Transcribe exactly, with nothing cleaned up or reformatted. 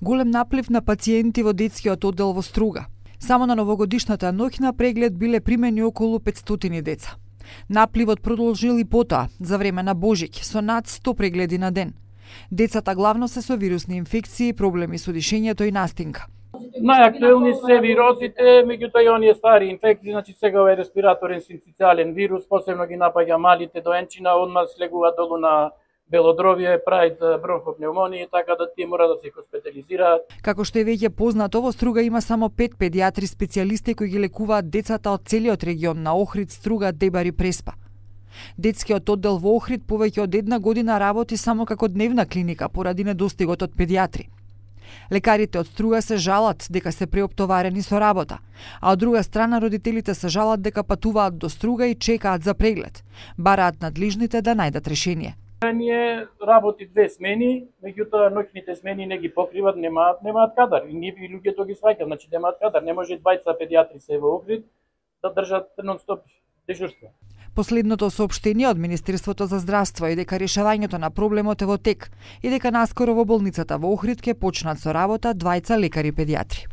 Голем наплив на пациенти во детскиот оддел во Струга. Само на новогодишната ноќ на преглед биле примени околу петстотини деца. Напливот продолжил и потоа, за време на Божиќ, со над сто прегледи на ден. Децата главно се со вирусни инфекции, проблеми со дишењето и настинка. Најактуелни се вирусите, меѓутоа и оние стари инфекции, значи сега овој респираторен синцитијален вирус, посебно ги напаѓа малите доенчина, одма слегува долу на белодробие, прави бронхопневмонија, така да тие мора да се хоспитализираат. Како што е веќе познато, во Струга има само пет педиатри специјалисти кои ги лекуваат децата од целиот регион на Охрид, Струга, Дебар и Преспа. Детскиот оддел во Охрид повеќе од една година работи само како дневна клиника поради недостигот од педиатри. Лекарите од Струга се жалат дека се преоптоварени со работа, а од друга страна родителите се жалат дека патуваат до Струга и чекаат за преглед. Бараат надлежните да најдат решение. Ние работи две смени, меѓутоа ноќните смени не ги покриват, немаат немаат кадар. И ние и луѓето ги сваќаат, значи немаат кадар. Не може двајца педиатри се во Охрид да држат нон-стоп дежурство. Последното соопштение од Министерството за здравство е дека решавањето на проблемот е во тек и дека наскоро во болницата во Охрид ќе почнат со работа двајца лекари педиатри.